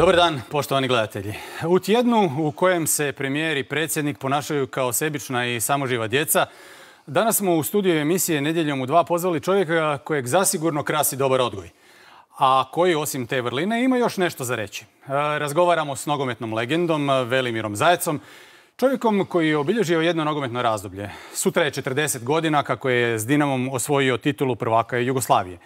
Dobar dan, poštovani gledatelji. U tjednu u kojem se premijer i predsjednik ponašaju kao sebična i samoživa djeca, danas smo u studiju emisije Nedjeljom u 2 pozvali čovjeka kojeg zasigurno krasi dobar odgoj, a koji osim te vrline ima još nešto za reći. Razgovaramo s nogometnom legendom Velimirom Zajecom, čovjekom koji je obilježio jedno nogometno razdoblje. Sutra je 40 godina kako je s Dinamom osvojio titulu prvaka Jugoslavije.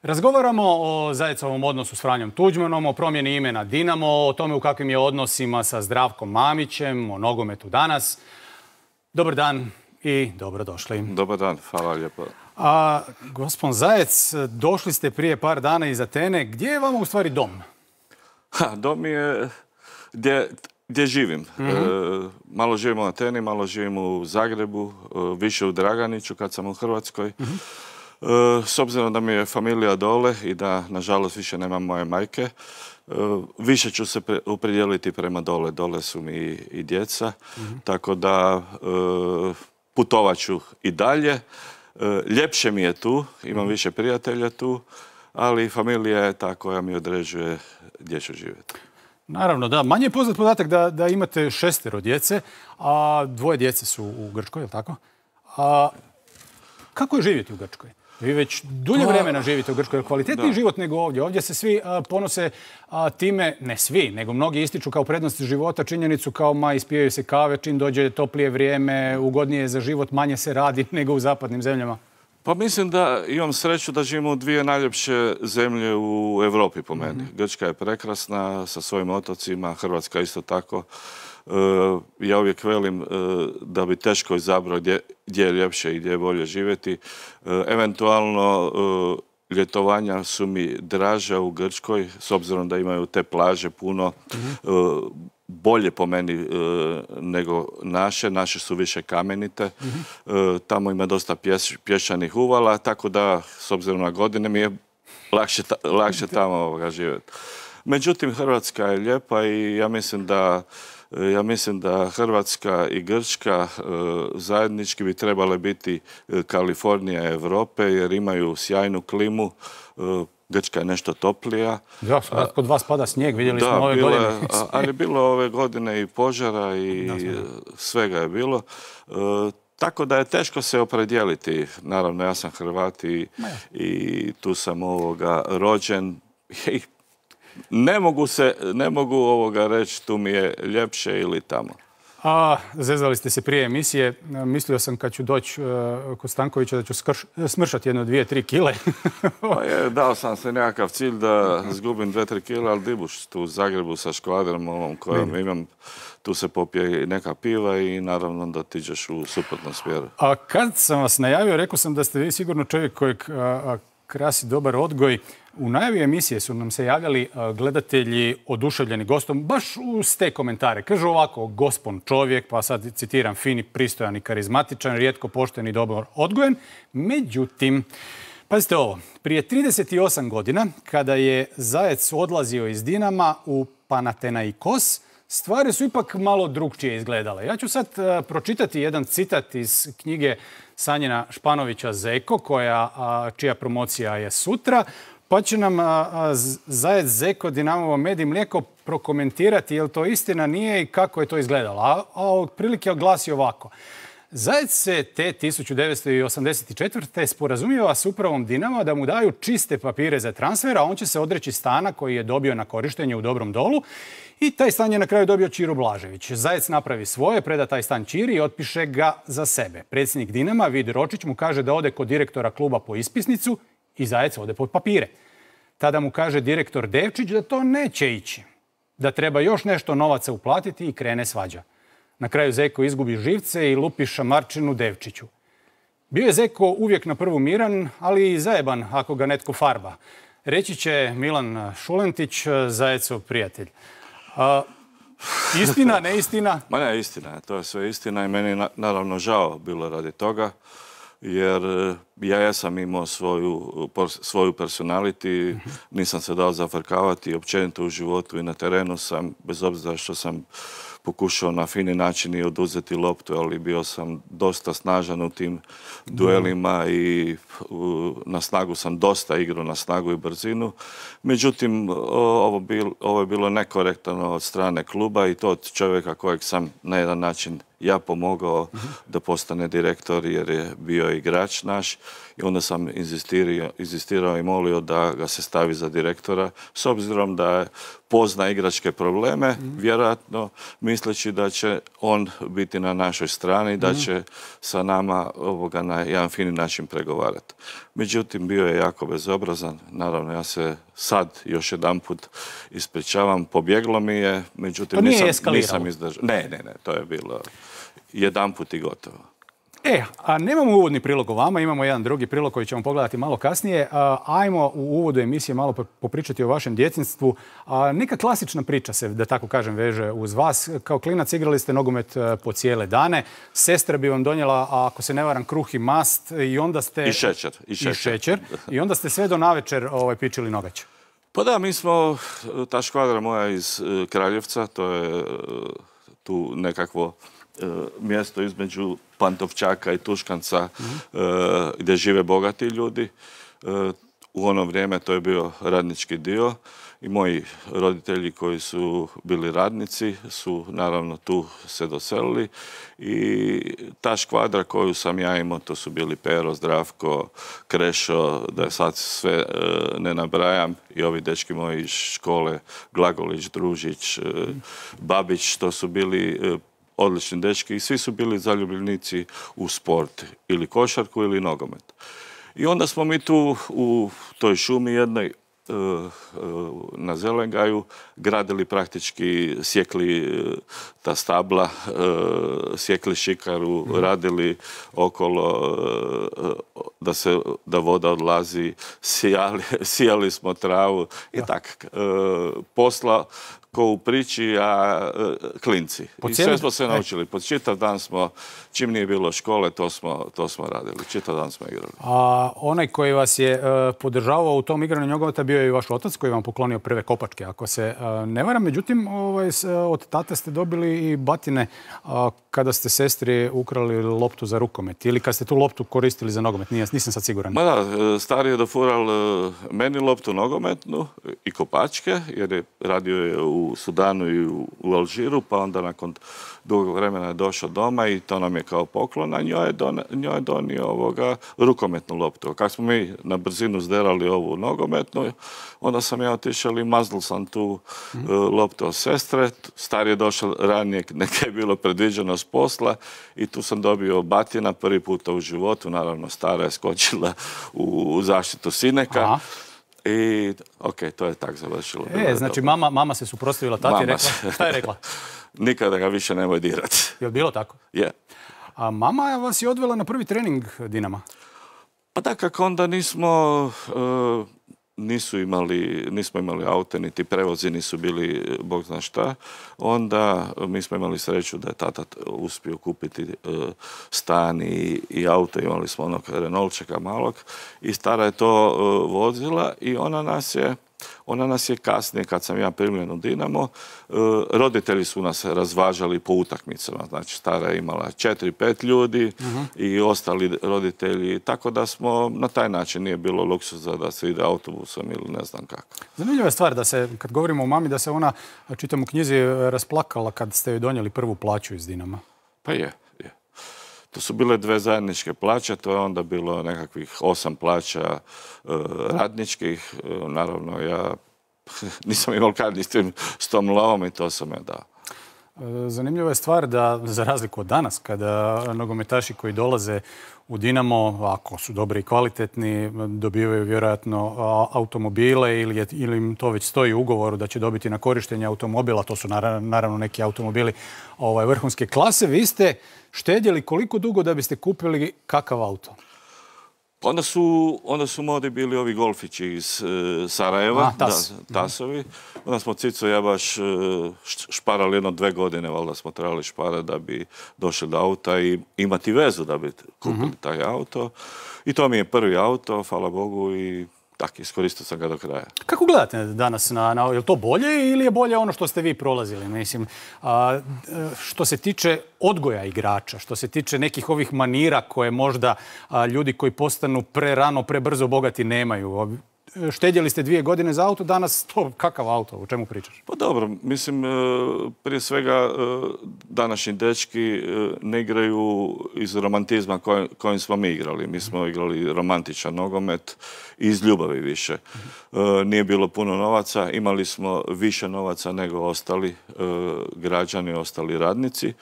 Razgovaramo o Zajecovom odnosu s Franjom Tuđmanom, o promjeni imena Dinamo, o tome u kakvim je odnosima sa Zdravkom Mamićem, o nogometu danas. Dobar dan i dobrodošli. Dobar dan, hvala lijepo. Gospon Zajec, došli ste prije par dana iz Atene. Gdje je vama u stvari dom? Dom je gdje živim. Malo živim u Ateni, malo živim u Zagrebu, više u Draganiću kad sam u Hrvatskoj. S obzirom da mi je familija dole i da, nažalost, više nemam moje majke, više ću se opredijeliti prema dole. Dole su mi i djeca, tako da putovat ću i dalje. Ljepše mi je tu, imam više prijatelja tu, ali familija je ta koja mi određuje gdje ću živjeti. Naravno, da. Manje je poznat podatak da imate 6 djece, a 2 djece su u Grčkoj, je li tako? Kako je živjeti u Grčkoj? Vi već dulje vremena živite u Grčkoj. Kvalitetniji život nego ovdje. Ovdje se svi ponose time, ne svi, nego mnogi ističu kao prednost života činjenicu kao ispijaju se kave, čim dođe toplije vrijeme, ugodnije je za život, manje se radi nego u zapadnim zemljama. Pa mislim da imam sreću da živimo u 2 najljepše zemlje u Europi po meni. Grčka je prekrasna sa svojim otocima, Hrvatska isto tako. Ja uvijek velim da bi teško izabrao gdje je ljepše i gdje je bolje živjeti. Eventualno ljetovanja su mi draža u Grčkoj, s obzirom da imaju te plaže puno, bolje po meni nego naše. Naše su više kamenite. Tamo ima dosta pješčanih uvala, tako da, s obzirom na godine, mi je lakše tamo živjeti. Međutim, Hrvatska je lijepa i ja mislim da Hrvatska i Grčka zajednički bi trebale biti Kalifornija Europe, jer imaju sjajnu klimu. Grčka je nešto toplija. Da, kod vas pada snijeg, vidjeli smo ove godine. Ali je bilo ove godine i požara i svega je bilo. Tako da je teško se opredijeliti. Naravno, ja sam Hrvat i tu sam rođen. Ne mogu reći tu mi je ljepše ili tamo. Zezali ste se prije emisije. Mislio sam kad ću doći kod Stankovića da ću smršati 1, 2, 3 kile. Dao sam se nekakav cilj da zgubim 2, 3 kile, ali dibuš tu u Zagrebu sa škvadrom ovom kojom imam. Tu se popije neka piva i naravno da ti ideš u suprotnom smjeru. A kad sam vas najavio, rekao sam da ste vi sigurno čovjek kojeg krasi dobar odgoj. U najavi emisije su nam se javljali gledatelji oduševljeni gostom, baš uz te komentare. Kažu ovako, gospon čovjek, pa sad citiram, fini, pristojan i karizmatičan, rijetko pošten i dobro odgojen. Međutim, pazite ovo, prije 38 godina, kada je Zajec odlazio iz Dinama u Panathinaikos, stvari su ipak malo drukčije izgledale. Ja ću sad pročitati jedan citat iz knjige Sanjina Španovića Zeko, čija promocija je sutra, pa će nam Zajec Zeko, Dinamovo med i mlijeko prokomentirati je li to istina, nije i kako je to izgledalo. A otprilike glasi ovako. Zajec se te 1984. sporazumijeva s upravom Dinama da mu daju čiste papire za transfer, a on će se odreći stana koji je dobio na korištenje u Dobrom Dolu i taj stan je na kraju dobio Ćiro Blažević. Zajec napravi svoje, preda taj stan Ćiri i otpiše ga za sebe. Predsjednik Dinama, Vid Ročić, mu kaže da ode kod direktora kluba po ispisnicu i Zajec ode po papire. Tada mu kaže direktor Devčić da to neće ići, da treba još nešto novaca uplatiti i krene svađa. Na kraju Zeko izgubi živce i lupi šamarčinu Devčiću. Bio je Zeko uvijek na prvu miran, ali i zajeban ako ga netko farba. Reći će Milan Šulentić, Zajecov prijatelj. Istina, neistina? Ma ne, istina. To je sve istina i meni naravno žao bilo radi toga. Jer ja sam imao svoju personality, nisam se dao zafrkavati, općenito u životu i na terenu sam, bez obzira što sam pokušao na fini način i oduzeti loptu, ali bio sam dosta snažan u tim duelima i na snagu sam dosta igrao, na snagu i brzinu. Međutim, ovo je bilo nekorektno od strane kluba i to od čovjeka kojeg sam na jedan način ja pomogao da postane direktor jer je bio igrač naš i onda sam inzistirao i molio da ga se stavi za direktora s obzirom da pozna igračke probleme, vjerojatno misleći da će on biti na našoj strani, da će sa nama na jedan fini način pregovarati. Međutim, bio je jako bezobrazan. Naravno, ja se sad još jedanput ispričavam. Pobjeglo mi je, međutim nisam izdržao. Ne, to je bilo jedanput i gotovo. A nemamo uvodni prilog o vama, imamo jedan drugi prilog koji ćemo pogledati malo kasnije. Ajmo u uvodu emisije malo popričati o vašem djetinjstvu. Neka klasična priča se, da tako kažem, veže uz vas. Kao klinac igrali ste nogomet po cijele dane. Sestra bi vam donijela, ako se ne varam, kruh i mast i onda ste... I šećer. I onda ste sve do navečer pičili nogač. Pa da, mi smo, ta škvadra moja iz Kraljevca, to je tu nekakvo mjesto između Pantovčaka i Tuškanca gdje žive bogati ljudi. U ono vrijeme to je bio radnički dio i moji roditelji koji su bili radnici su naravno tu se doselili i ta škvadra koju sam ja imao, to su bili Pero, Zdravko, Krešo, da sad sve ne nabrajam i ovi dečki moji iz škole, Glagolić, Družić, Babić, to su bili odlični dečki i svi su bili zaljubljenici u sport, ili košarku ili nogomet. I onda smo mi tu u toj šumi jednoj na Zelengaju gradili praktički, sjekli ta stabla, sjekli šikaru, radili okolo da voda odlazi, sijali smo travu i tak. Posla ko u priči, a klinci. I sve smo se naučili. Pod čitav dan smo, čim nije bilo škole, to smo radili. Čitav dan smo igrali. A onaj koji vas je podržavao u tom igranju nogometa bio je i vaš otac koji vam poklonio prve kopačke, ako se ne varam. Međutim, od tate ste dobili i batine kada ste sestri ukrali loptu za rukomet ili kad ste tu loptu koristili za nogomet. Nisam sad siguran. Ma da, stari je dofural meni loptu nogometnu i kopačke, jer je radio je u Sudanu i u Alžiru, pa onda nakon dugog vremena je došao doma i to nam je kao poklon, a njoj je donio rukometnu loptu. Kako smo mi na brzinu zderali ovu nogometnu, onda sam ja otišao i maznul sam tu loptu od sestre. Stari je došao ranije, neka je bilo predviđeno s posla i tu sam dobio batina prvi puta u životu. Naravno, stara je skočila u zaštitu sineka. I, to je tak završilo. Znači, mama se suprotstavila tati i rekla, šta je rekla? Nikada ga više nemoj dirati. Je li bilo tako? Je. A mama vas je odvela na prvi trening Dinama? Pa da, kako onda nismo imali aute, niti prevozi nisu bili, bog zna šta. Onda mi smo imali sreću da je tata uspio kupiti stan i auto. Imali smo onog Renaultčeka malog i stara je to vozila i ona nas je kasnije, kad sam ja primljen u Dinamo, roditelji su nas razvažali po utakmicama. Znači, stara je imala 4-5 ljudi i ostali roditelji. Tako da smo, na taj način nije bilo luksuza da se ide autobusom ili ne znam kako. Zanimljiva je stvar da se, kad govorimo o mami, da se ona, čitam u knjizi, rasplakala kad ste joj donijeli prvu plaću iz Dinama. Pa je. To su bile 2 zajedničke plaće, to je onda bilo nekakvih 8 plaća radničkih. Naravno, ja nisam imao kad s tom lovom i to sam je dao. Zanimljiva je stvar da, za razliku od danas, kada nogometaši koji dolaze u Dinamo, ako su dobri i kvalitetni, dobivaju vjerojatno automobile ili im to već stoji u ugovoru da će dobiti na korištenje automobila. To su naravno neki automobili vrhunske klase. Vi ste štedjeli koliko dugo da biste kupili kakav auto? Onda su modi bili ovi golfići iz Sarajeva, tasovi. Onda smo Cico i ja baš šparali 1-2 godine, valjda smo trebali šparati da bi došli do auta i imati vezu da bi kupili taj auto. I to mi je prvi auto, hvala Bogu, i tak, iskoristio sam ga do kraja. Kako gledate danas je li to bolje ili je bolje ono što ste vi prolazili? Mislim, što se tiče odgoja igrača, što se tiče nekih ovih manira koje možda ljudi koji postanu prerano, prebrzo bogati nemaju. Štedjeli ste 2 godine za auto, danas kakav auto, o čemu pričaš? Pa dobro, mislim, prije svega današnji dečki ne igraju iz romantizma kojim smo mi igrali. Mi smo igrali romantičan nogomet iz ljubavi više. Nije bilo puno novaca, imali smo više novaca nego ostali građani, ostali radnici,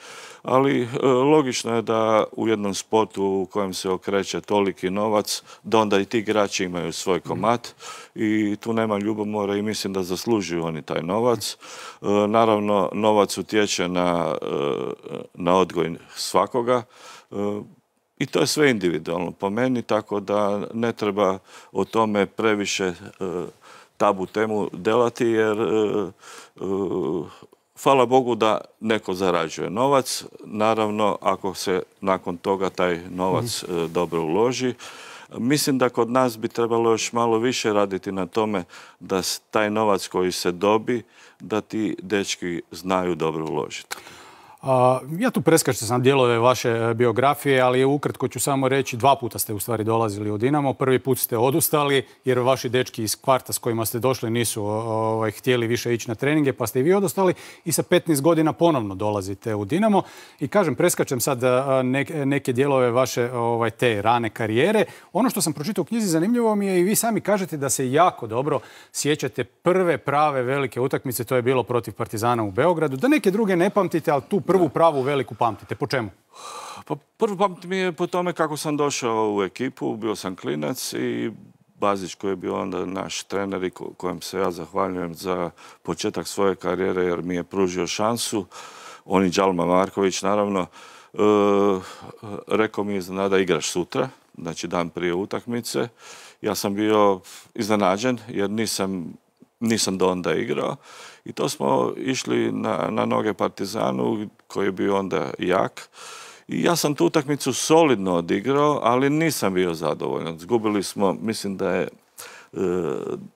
ali logično je da u jednom sportu u kojem se okreće toliki novac, da onda i ti igrači imaju svoj komad i tu nema ljubomora i mislim da zaslužuju oni taj novac. Naravno, novac utječe na odgoj svakoga i to je sve individualno po meni, tako da ne treba o tome previše tabu temu delati, jer hvala Bogu da neko zarađuje novac. Naravno, ako se nakon toga taj novac dobro uloži. Mislim da kod nas bi trebalo još malo više raditi na tome da taj novac koji se dobi, da ti dečki znaju dobro uložiti. Ja tu preskačem sam dijelove vaše biografije, ali ukratko ću samo reći 2 puta ste u stvari dolazili u Dinamo. Prvi put ste odustali jer vaši dečki iz kvarta s kojima ste došli nisu htjeli više ići na treninge, pa ste i vi odustali i sa 15 godina ponovno dolazite u Dinamo. I kažem, preskačem sad neke dijelove vaše te rane karijere. Ono što sam pročitao u knjizi zanimljivo mi je i vi sami kažete da se jako dobro sjećate prve prave velike utakmice, to je bilo protiv Partizana u Beogradu. Da neke druge ne pamtite, ali tu prvu pravu veliku pamtite. Po čemu? Pa prvo pamtim je po tome kako sam došao u ekipu. Bio sam klinac i Bazić koji je bio onda naš trener i kojem se ja zahvaljujem za početak svoje karijere jer mi je pružio šansu. On i Đalma Marković naravno. Rekao mi je da igraš sutra, znači dan prije utakmice. Ja sam bio iznenađen jer nisam do onda igrao i to smo išli na noge Partizanu koji je bio onda jak. I ja sam tu utakmicu solidno odigrao, ali nisam bio zadovoljan. Zgubili smo, mislim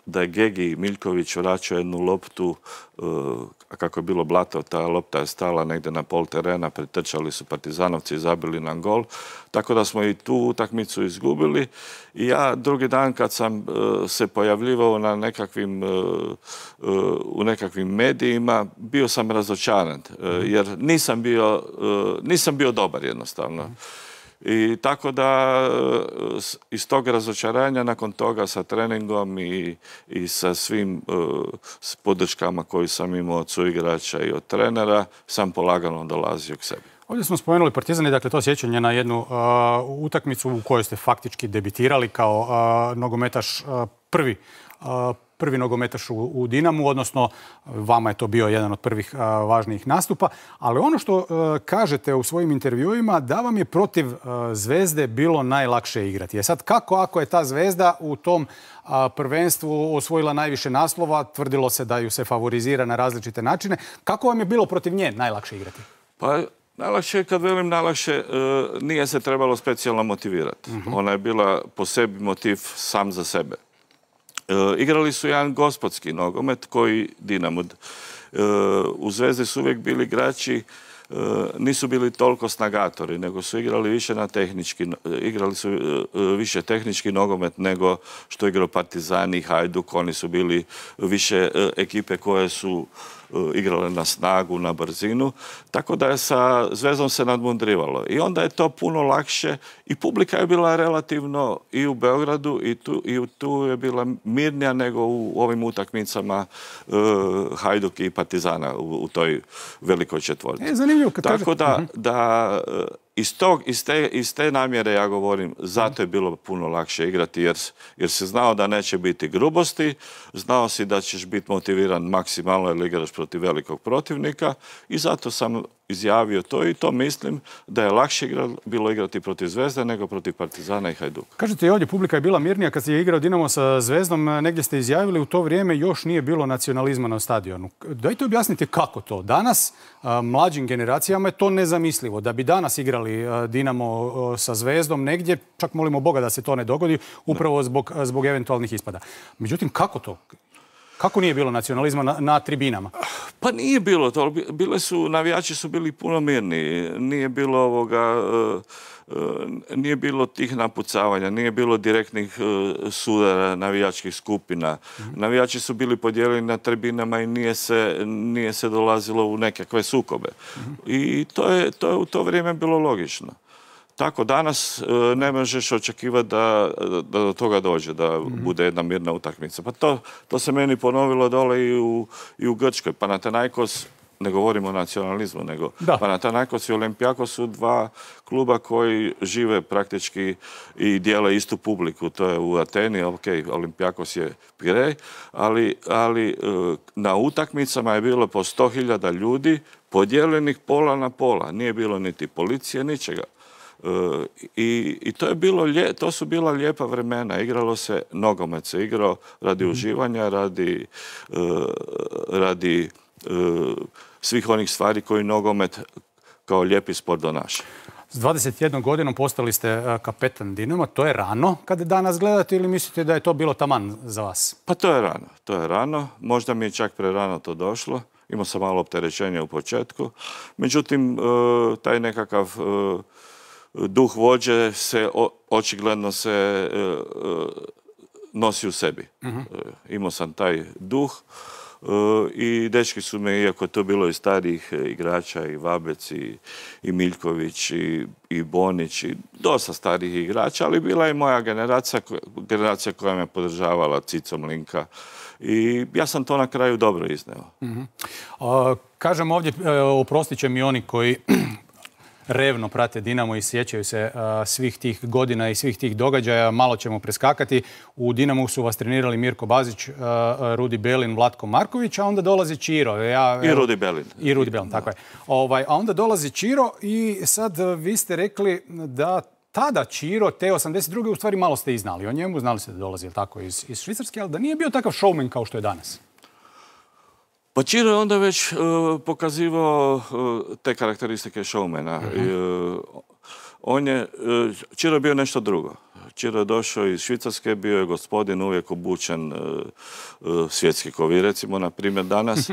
da je Gegi Miljković vraćao jednu loptu, a kako je bilo blato, ta lopta je stala negdje na pol terena, pretrčali su Partizanovci i zabili nam gol. Tako da smo i tu utakmicu izgubili. I ja drugi dan kad sam se pojavljivao u nekakvim medijima, bio sam razočaran, jer nisam bio dobar jednostavno. I tako da iz tog razočaranja nakon toga sa treningom i sa svim podrškama koju sam imao od suigrača i od trenera sam polagano dolazio k sebi. Ovdje smo spomenuli Partizan i dakle to sjećanje na jednu utakmicu u kojoj ste faktički debitirali kao nogometaš prvi nogometaš u Dinamu, odnosno vama je to bio jedan od prvih važnijih nastupa. Ali ono što kažete u svojim intervjuima da vam je protiv Zvezde bilo najlakše igrati. Sad kako ako je ta Zvezda u tom prvenstvu osvojila najviše naslova, tvrdilo se da ju se favorizira na različite načine, kako vam je bilo protiv nje najlakše igrati? Pa najlakše, kad velim najlakše, nije se trebalo specijalno motivirati. Ona je bila po sebi motiv sam za sebe. Igrali su jedan gospodski nogomet koji Dinamo. U Zvezdi su uvijek bili igrači, nisu bili toliko snagatori, nego su igrali više igrali su više tehnički nogomet nego što igrao Partizan i Hajduk. Oni su bili više ekipe koje su igrale na snagu, na brzinu. Tako da je sa Zvezdom se nadmudrivalo. I onda je to puno lakše i publika je bila relativno i u Beogradu i tu je bila mirnija nego u ovim utakmicama Hajduk i Partizana u toj velikoj četvorci. Zanimljivo kad tako da iz te namjere ja govorim, zato je bilo puno lakše igrati jer se znao da neće biti grubosti, znao si da ćeš biti motiviran maksimalno jer igraš protiv velikog protivnika i zato sam izjavio to i to mislim da je lakše bilo igrati protiv Zvezde nego protiv Partizana i Hajduka. Kažete i ovdje publika je bila mirnija kad je igrao Dinamo sa Zvezdom. Negdje ste izjavili u to vrijeme još nije bilo nacionalizma na stadionu. Dajte objasnite kako to. Danas mlađim generacijama je to nezamislivo. Da bi danas igrali Dinamo sa Zvezdom negdje, čak molimo Boga da se to ne dogodi, upravo zbog eventualnih ispada. Međutim, kako to? Kako nije bilo nacionalizma na tribinama? Pa nije bilo to. Navijači su bili puno mirni. Nije bilo tih napucavanja, nije bilo direktnih sudara navijačkih skupina. Navijači su bili podijeljeni na tribinama i nije se dolazilo u nekakve sukobe. I to je u to vrijeme bilo logično. Tako danas ne možeš očekivati da do toga dođe, da bude jedna mirna utakmica. Pa to se meni ponovilo dole i u Grčkoj. Panathinaikos, ne govorimo o nacionalizmu, nego Panathinaikos i Olympiakos su dva kluba koji žive praktički i dijele istu publiku. To je u Ateni, Olympiakos je Pirej, ali na utakmicama je bilo po 100.000 ljudi podijeljenih pola na pola. Nije bilo niti policije, ničega. I to su bila lijepa vremena. Igralo se, nogomet se igrao radi uživanja, radi svih onih stvari koji nogomet kao lijepi sport donaša. S 21 godinom postali ste kapetan Dinama. To je rano kada danas gledate ili mislite da je to bilo taman za vas? Pa to je rano. Možda mi je čak prerano to došlo. Imao sam malo opterećenja u početku. Međutim, taj nekakav duh vođe očigledno se nosi u sebi. Imao sam taj duh i dečki su me, iako je to bilo i starijih igrača, i Vabec, i Miljković, i Bonić, i dosta starijih igrača, ali bila je moja generacija koja me podržavala, Cico Mlinka. I ja sam to na kraju dobro izneo. Kažem ovdje, oprostit će mi oni koji revno prate Dinamo i sjećaju se svih tih godina i svih tih događaja. Malo ćemo preskakati. U Dinamu su vas trenirali Mirko Bazić, Rudi Belin, Vlatko Marković, a onda dolazi Čiro. I Rudi Belin. I Rudi Belin, tako je. A onda dolazi Čiro i sad vi ste rekli da tada Čiro, te 82. u stvari malo ste i znali o njemu. Znali ste da dolazi tako iz Švicarske, ali da nije bio takav showman kao što je danas. Pa Čiro je onda već pokazivao te karakteristike showmana. Čiro je bio nešto drugo. Čiro je došao iz Švicarske, bio je gospodin uvijek obučen svjetski ko vi, recimo, na primjer danas,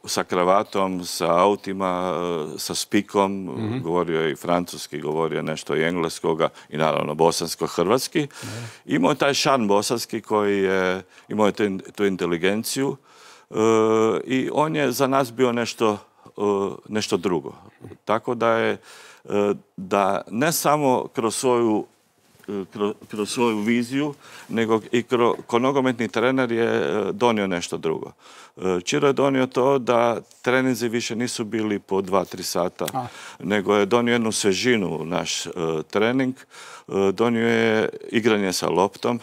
sa kravatom, sa autima, sa spikom, govorio je i francuski, govorio je nešto i engleskoga i naravno bosansko-hrvatski. Imao je taj šarm bosanski koji je, imao je tu inteligenciju, i on je za nas bio nešto drugo. Tako da ne samo kroz svoju viziju, nego i ko nogometni trener je donio nešto drugo. Čiro je donio to da treninzi više nisu bili po 2-3 sata, nego je donio jednu svežinu u naš trening. Donio je igranje sa loptom,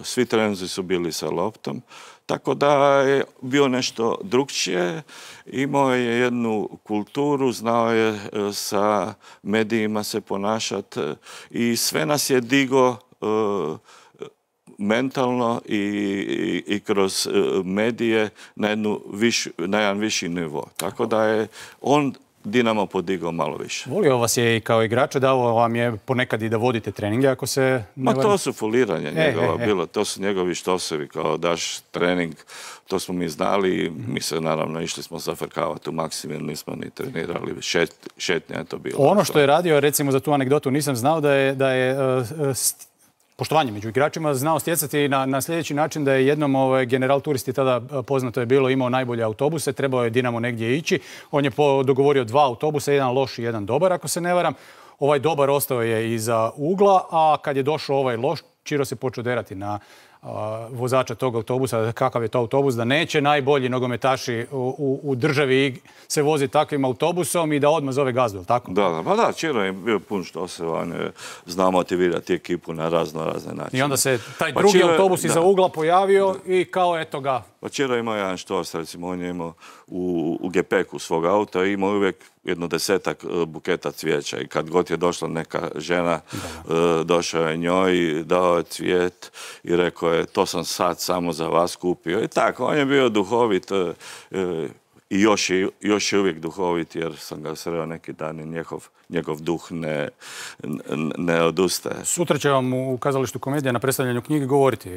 svi treninzi su bili sa loptom. Tako da je bio nešto drukčije, imao je jednu kulturu, znao je sa medijima se ponašati i sve nas je digo mentalno i kroz medije na jedan viši nivo. Tako da je on Dinamo podigao malo više. Volio vas je i kao igrača, dao vam je ponekad i da vodite treninge ako se... Ma to su foliranja njegova bila, to su njegovi štosevi, kao daš trening, to smo mi znali, mi se naravno išli smo zafrkavati u Maksimir, nismo ni trenirali, šetnja je to bilo. Ono što je radio, recimo za tu anegdotu, nisam znao da je poštovanje među igračima znao stjecati na sljedeći način da je jednom general turisti, tada poznato je bilo, imao najbolje autobuse, trebao je Dinamo negdje ići. On je dogovorio 2 autobusa, jedan loš i jedan dobar, ako se ne varam. Ovaj dobar ostao je iza ugla, a kad je došao ovaj loš, Čiro se počeo derati na vozača tog autobusa, kakav je to autobus, da neće najbolji nogometaši u državi se vozi takvim autobusom i da odmah zove gazdu, tako? Da, Čiro je bio pun što se zna motivirati ekipu na razne načine. I onda se taj drugi autobus iza ugla pojavio i kao eto ga. Pa Čiro imao jedan štos, recimo, on je imao u gepeku svog auta i imao uvijek jedno 10-ak buketa cvijeća i kad god je došla neka žena, došao je njoj, dao je cvijet i rekao je to sam sad samo za vas kupio. I tako, on je bio duhovit i još je uvijek duhovit jer sam ga sreo neki dan i njegov duh ne odustaje. Sutra će vam u Kazalištu Komedija na predstavljanju knjige govoriti.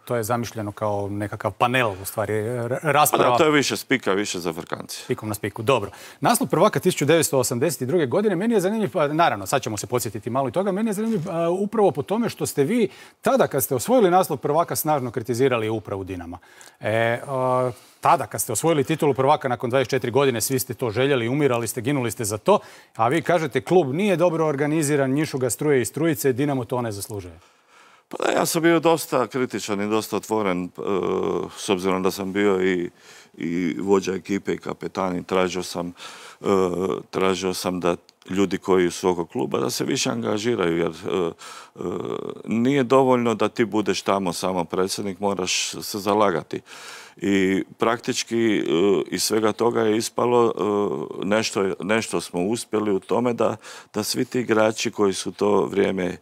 To je zamišljeno kao nekakav panel, u stvari, rasprava. To je više spika, više za frkanci. Spikom na spiku, dobro. Naslov prvaka 1982. godine, meni je zanimljiv, naravno, sad ćemo se podsjetiti malo i toga, meni je zanimljiv upravo po tome što ste vi tada, kad ste osvojili naslov prvaka, snažno kritizirali upravu Dinama. Tada, kad ste osvojili titulu prvaka nakon 24 godine, svi ste to željeli, umirali ste, ginuli ste za to, a vi kažete klub nije dobro organiziran, njišu ga struje i strujice, Dinamo to ne zaslužuje. Pa da, ja sam bio dosta kritičan i dosta otvoren, s obzirom da sam bio i vođa ekipe i kapetan i tražio sam da ljudi koji su svog kluba da se više angažiraju, jer nije dovoljno da ti budeš tamo samo predsjednik, moraš se zalagati. I praktički iz svega toga je ispalo nešto smo uspjeli u tome da svi ti igrači koji su to vrijeme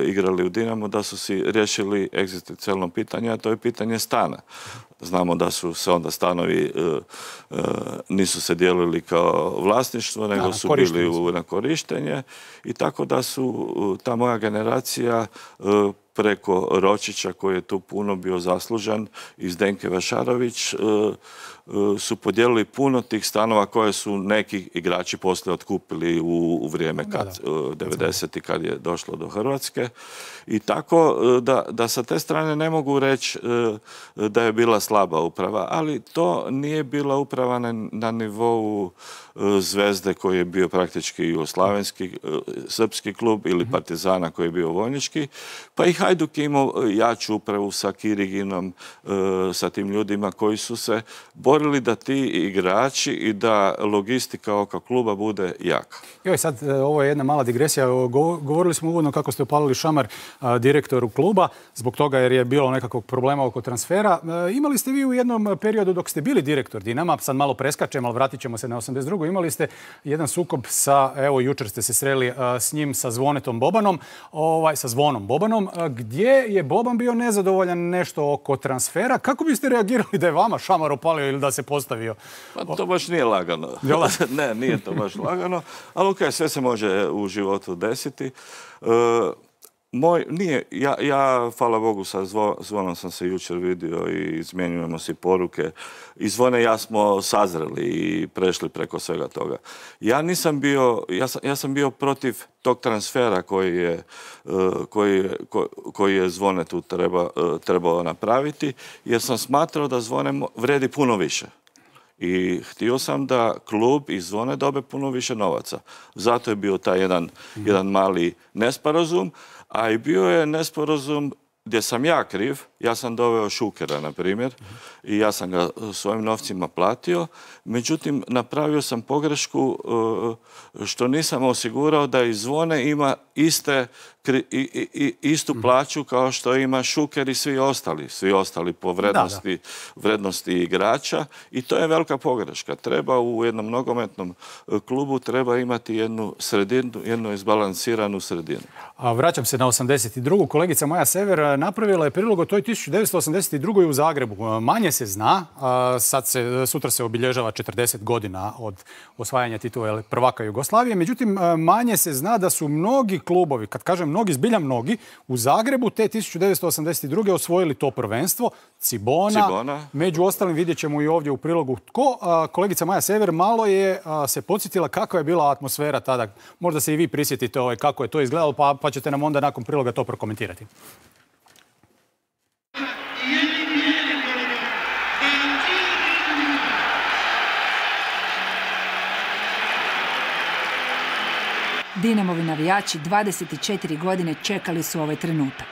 igrali u Dinamo, da su si riješili egzistencijalno pitanje, a to je pitanje stana. Znamo da su se onda stanovi nisu se dijelili kao vlasništvo, nego su bili na korištenje i tako da su ta moja generacija preko Ročića, koji je tu puno bio zaslužan, i Zdenke Vašarović, su podijelili puno tih stanova koje su neki igrači poslije otkupili u vrijeme 90. kad je došlo do Hrvatske. I tako da sa te strane ne mogu reći da je bila slaba uprava, ali to nije bila uprava na nivou Zvezde koji je bio praktički jugoslavenski, srpski klub, ili Partizana koji je bio vojnički, pa i Hajduk je imao jaču upravu sa Kiriginom, sa tim ljudima koji su se borili da ti igrači i da logistika oko kluba bude jaka. Joj, sad ovo je jedna mala digresija. Govorili smo uvodno kako ste opalili šamar direktoru kluba, zbog toga jer je bilo nekakvog problema oko transfera. Imali ste vi u jednom periodu dok ste bili direktor Dinama, sad malo preskačemo, ali vratit ćemo se na 82. Imali ste jedan sukob sa, evo jučer ste se sreli s njim, sa Zvonetom Bobanom, sa Zvonom Bobanom, gdje je Boban bio nezadovoljan nešto oko transfera. Kako biste reagirali da je vama šamar opalio ili da se postavio? Pa to baš nije lagano. Ne, nije to baš lagano, ali okej, sve se može u životu desiti. Ja, hvala Bogu, sa Zvonom sam se jučer vidio i izmjenjujemo si poruke. I Zvone i ja smo sazreli i prešli preko svega toga. Ja sam bio protiv tog transfera koji je Zvone tu trebao napraviti, jer sam smatrao da Zvone vredi puno više. I htio sam da klub i Zvone dobe puno više novaca. Zato je bio taj jedan mali nesporazum, a i bio je nesporazum gdje sam ja kriv. Ja sam doveo Šukera, na primjer, i ja sam ga svojim novcima platio. Međutim, napravio sam pogrešku što nisam osigurao da i Zvone ima istu plaću kao što ima Šuker i svi ostali po vrednosti igrača, i to je velika pogreška. Treba u jednom nogometnom klubu treba imati jednu sredinu, jednu izbalansiranu sredinu. Vraćam se na 82. Kolegica Maja Sever napravila je prilog o toj 1982. u Zagrebu. Manje se zna, sutra se obilježava 40 godina od osvajanja titula prvaka Jugoslavije, međutim manje se zna da su mnogi klubovi, kad kažem mnogi, zbilja mnogi, u Zagrebu te 1982. osvojili to prvenstvo. Cibona. Među ostalim vidjet ćemo i ovdje u prilogu tko. Kolegica Maja Sever malo je se podsjetila kakva je bila atmosfera tada. Možda se i vi prisjetite kako je to izgledalo, pa ćete nam onda nakon priloga to prokomentirati. Dinamovi navijači 24 godine čekali su ovaj trenutak.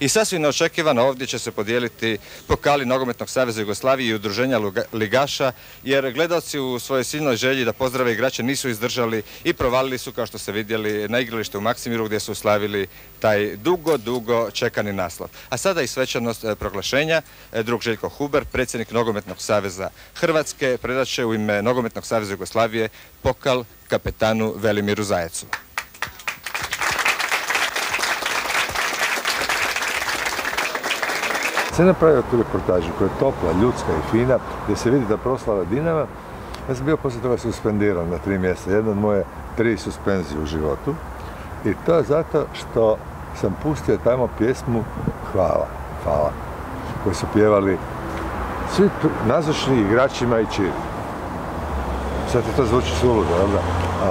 I sasvim neočekivano ovdje će se podijeliti pokali Nogometnog saveza Jugoslavije i udruženja ligaša, jer gledalci u svojoj silnoj želji da pozdrave igrače nisu izdržali i provalili su, kao što ste vidjeli, na igralište u Maksimiru gdje su slavili taj dugo čekani naslov. A sada i svečanost proglašenja. Drug Željko Huber, predsjednik Nogometnog saveza Hrvatske, predat će u ime Nogometnog saveza Jugoslavije pokal kapetanu Velimiru Zajecu. Sam napravio tu reportažu koja je topla, ljudska i fina, gdje se vidi da proslava Dinama. Ja sam bio poslije toga suspendiran na 3 mjeseca, jedna od moje 3 suspenzije u životu. I to je zato što sam pustio tamo pjesmu Hvala, koju su pjevali svi nazočni igračima i čiri. Sad to zvuči suludo, jel da?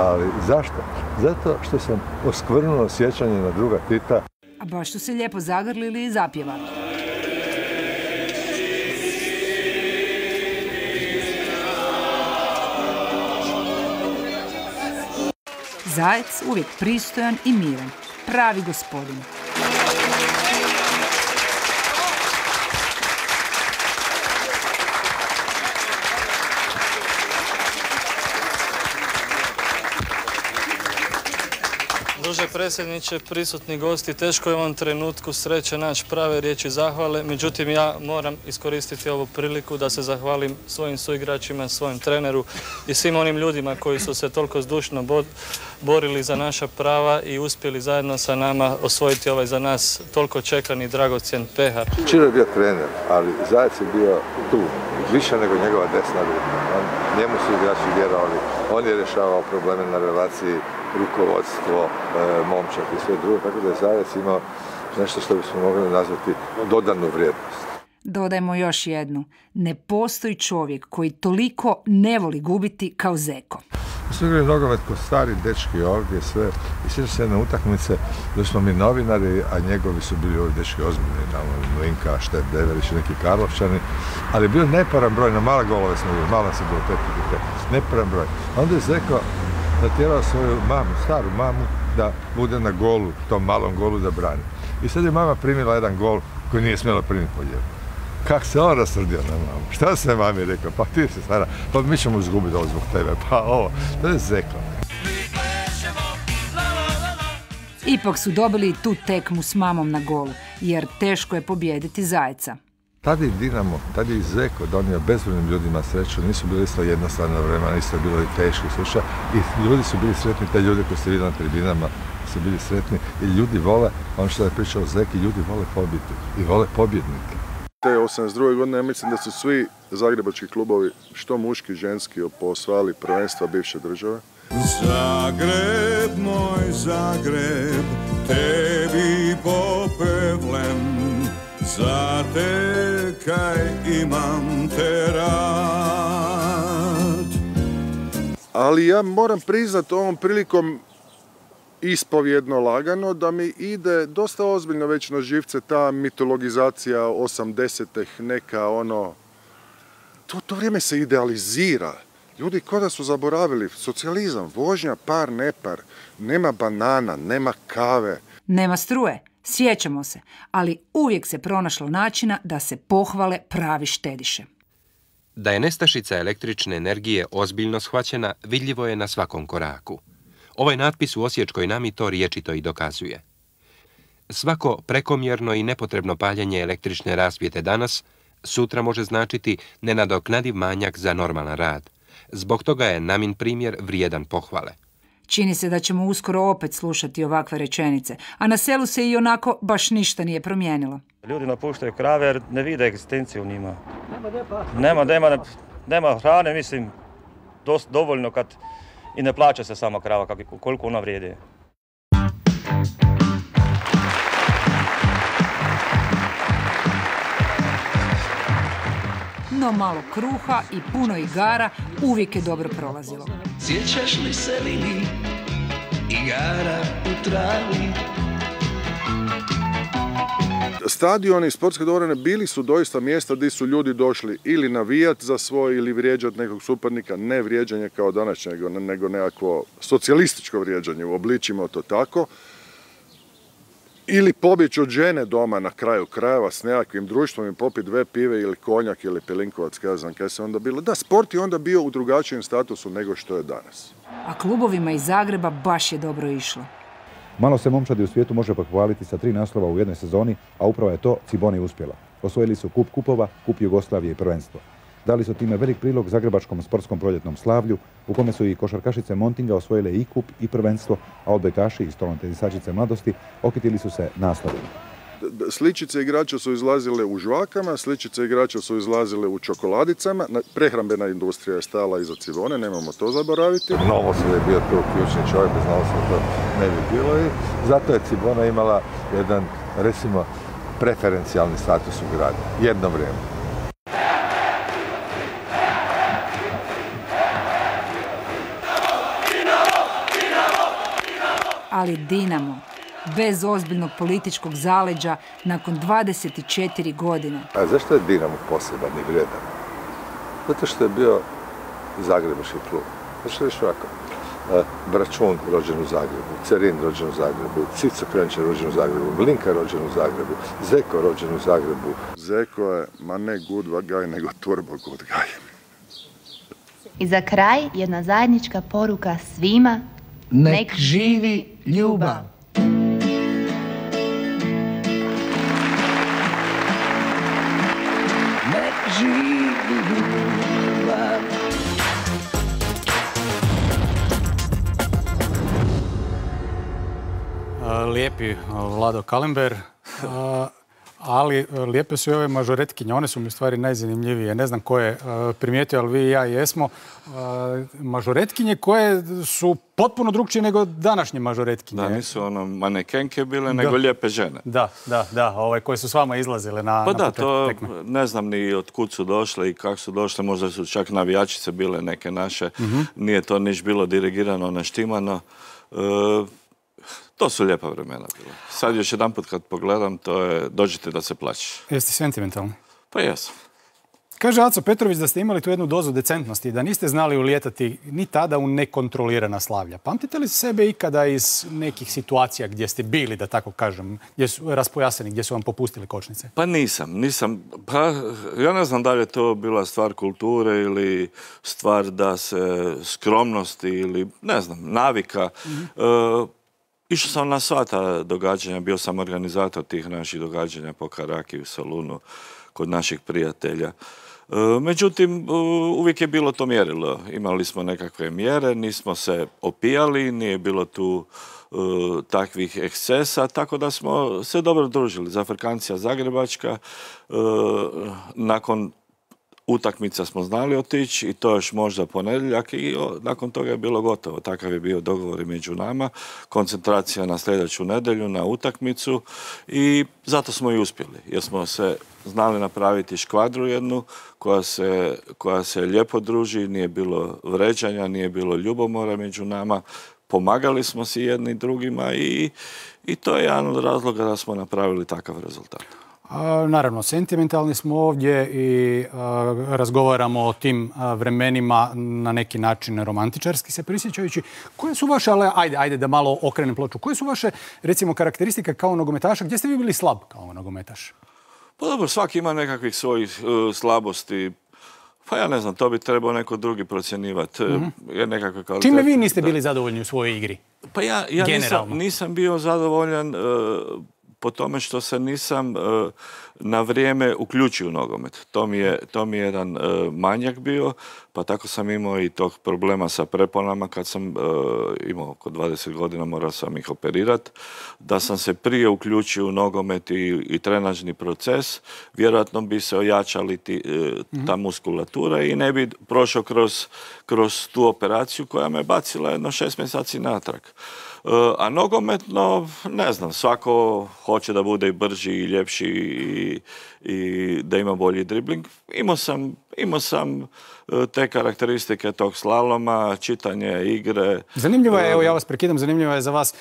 Ali zašto? Zato što sam oskvrnuo sjećanje na druga Tita. A baš su se lijepo zagrlili i zapjevali. Zajec uvijek pristojan i miran, pravi gospodin. Druže predsjedniče, prisutni gosti, teško je u ovom trenutku sreće naći prave riječi zahvale, međutim ja moram iskoristiti ovu priliku da se zahvalim svojim suigračima, svojem treneru i svim onim ljudima koji su se toliko zdušno borili za naša prava i uspjeli zajedno sa nama osvojiti ovaj za nas toliko čekani dragocjen pehar. Čiro je bio trener, ali Zajec je bio tu, više nego njegova desna ruka. Njemu su igrači vjerovali, on je rješavao probleme na relaciji rukovodstvo, momčak i sve drugo, tako da je Zajec imao nešto što bismo mogli nazvati dodanu vrijednost. Dodajmo još jednu. Ne postoji čovjek koji toliko ne voli gubiti kao Zeko. Mi smo igrali nogomet ko stari dečki ovdje sve i sjećam se jedne utakmice da smo mi novinari, a njegovi su bili ovi dečki ozbiljni, Mlinka, Štep, Deverić i neki Karlovčani, ali je bio neparan broj, na male golove smo bili, malo se bilo 5-5, neparan broj. Onda je Zeko natjerao svoju mamu, staru mamu, da bude na golu, tom malom golu da brani. I sad je mama primila jedan gol koji nije smjela primiti po njemu. Kako se on rasrdio na mamu? Šta se mami rekao? Pa ti si stara, pa mi ćemo izgubiti ovo zbog tebe. Pa ovo, to je Zeko. Ipak su dobili tu tekmu s mamom na golu, jer teško je pobijediti Zajca. Tada i Dinamo, tada i Zeko donio bezbrojnim ljudima sreću, nisu bili isto jednostavna vremena, isto je bilo i teško sluša i ljudi su bili sretni, te ljudi koji ste vidjeli na tribinama su bili sretni i ljudi vole, ono što je pričao Zeki, ljudi vole pobiti i vole pobjednike. Te 82. godine ja mislim da su svi zagrebački klubovi, što muški, ženski, osvajali prvenstva bivše države. Zagreb, moj Zagreb, tebi popevlem, za te kaj imam te rad. Ali ja moram priznat ovom prilikom ispovjedno lagano da mi ide dosta ozbiljno već na živce ta mitologizacija 80-ih, neka ono... To vrijeme se idealizira. Ljudi ko da su zaboravili socijalizam, vožnja par nepar, nema banana, nema kave. Nema struje, sjećamo se, ali uvijek se pronašlo načina da se pohvale pravi štediše. Da je nestašica električne energije ozbiljno shvaćena, vidljivo je na svakom koraku. Ovaj natpis u Osječkoj Nami to riječito i dokazuje. Svako prekomjerno i nepotrebno paljenje električne rasvjete danas, sutra može značiti nenadoknadiv manjak za normalan rad. Zbog toga je Namin primjer vrijedan pohvale. Čini se da ćemo uskoro opet slušati ovakve rečenice, a na selu se i onako baš ništa nije promijenilo. Ljudi napuštaju krave jer ne vide egzistenciju u njima. Nema hrane, mislim, dovoljno kad i ne plaća se sama krava koliko ona vrijedi. No malo kruha i puno igara uvijek je dobro prolazilo. Sjećaš li se Lili, igara u travi? Stadioni i sportske dvorane bili su doista mjesta gdje su ljudi došli ili navijati za svoj ili vrijeđati nekog suparnika, ne vrijeđanje kao današnje, nego nekakvo socijalističko vrijeđanje, uobličimo to tako. ili pobjeći od žene doma na kraju krajeva s nekakvim društvom i popiti 2 pive ili konjak ili pelinkovac, kada znam kaj se onda bilo. Da, sport je onda bio u drugačijem statusu nego što je danas. A klubovima iz Zagreba baš je dobro išlo. Malo se momčadi u svijetu može pohvaliti sa 3 naslova u jednoj sezoni, a upravo je to Ciboni uspjela. Osvojili su kup kupova, kup Jugoslavije i prvenstvo. Dali su time velik prilog zagrebačkom sportskom proljetnom slavlju, u kome su i košarkašice Montinga osvojile i kup i prvenstvo, a odbojkaši i stolnotenisačice mladosti okitili su se naslovima. Sličice igrača su izlazile u žvakama, sličice igrača su izlazile u čokoladicama. Prehrambena industrija je stala iza Cibone, nemamo to zaboraviti. Novos je bio tu ključni čovjek, bez Novosa to ne bi bilo i zato je Cibona imala jedan, recimo, preferencijalni status u gradu. Jedno vrijeme. Ali Dinamo, bez ozbiljnog političkog zaleđa, nakon 24 godine. A zašto je Dinamo poseban i vrijedan? Zato što je bio zagrebački klub. Zato što je ovako. Bračun rođen u Zagrebu, Cerin rođen u Zagrebu, Cico Krenčar rođen u Zagrebu, Blinka rođen u Zagrebu, Zeko rođen u Zagrebu. Zeko je, ma ne good guy, nego turbo good guy. I za kraj jedna zajednička poruka svima. Nek živi ljubav. Nek živi ljubav. Lijepi Vlado Kalember, ali lijepe su i ove mažoretkinje. One su mi u stvari najzanimljivije. Ne znam ko je primijetio, ali vi i ja jesmo. Mažoretkinje koje su potpuno drugčije nego današnje mažoretkinje. Da, nisu ono manekenke bile, nego lijepe žene. Da, koje su s vama izlazile na Pa da, to ne znam ni od kud su došle i kako su došle. Možda su čak navijačice bile neke naše. Nije to niš bilo dirigirano, naštimano. To su lijepa vremena bila. Sad još jedan put kad pogledam, to je dođite da se plaćeš. Jeste sentimentalni? Pa jesam. Kaže Aco Petrović da ste imali tu jednu dozu decentnosti, da niste znali ulijetati ni tada u nekontrolirana slavlja. Pamtite li sebe ikada iz nekih situacija gdje ste bili, da tako kažem, gdje su raspojaseni, gdje su vam popustili kočnice? Pa nisam. Pa ja ne znam da li je to bila stvar kulture ili stvar da se skromnosti ili, ne znam, navika. Išao sam na sva ta događanja, bio sam organizator tih naših događanja po Karaki u salunu kod naših prijatelja. Međutim, uvijek je bilo to mjerilo. Imali smo nekakve mjere, nismo se opijali, nije bilo tu takvih ekscesa, tako da smo se dobro družili. Zafrkancija Zagrebačka, nakon utakmica smo znali otići i to još možda ponedjeljak i nakon toga je bilo gotovo. Takav je bio dogovor među nama, koncentracija na sljedeću nedjelju, na utakmicu i zato smo i uspjeli. Jer smo se znali napraviti škvadru jednu koja se lijepo druži, nije bilo vređanja, nije bilo ljubomora među nama. Pomagali smo si jedni drugima i to je jedan od razloga da smo napravili takav rezultat. Naravno, sentimentalni smo ovdje i razgovaramo o tim vremenima na neki način romantičarski se prisjećajući. Koje su vaše, ali ajde da malo okrenem ploču, koje su vaše, recimo, karakteristike kao nogometaša? Gdje ste vi bili slab kao nogometaš? Pa dobro, svaki ima nekakvih svojih slabosti. Pa ja ne znam, to bi trebao neko drugi procjenjivati. Čime vi niste bili zadovoljni u svojoj igri? Pa ja nisam bio zadovoljan po tome što se nisam na vrijeme uključio u nogomet. To mi je jedan manjak bio, pa tako sam imao i tog problema sa preponama kad sam imao oko 20 godina, morao sam ih operirati. Da sam se prije uključio u nogomet i trenažni proces, vjerojatno bi se ojačali ta muskulatura i ne bi prošao kroz tu operaciju koja me bacila jedno 6 mjeseci natrag. A nogometno, ne znam, svako hoće da bude i brži i ljepši i da ima bolji dribling. Imao sam te karakteristike tog slaloma, čitanje igre. Zanimljivo je, evo ja vas prekidam, zanimljivo je za vas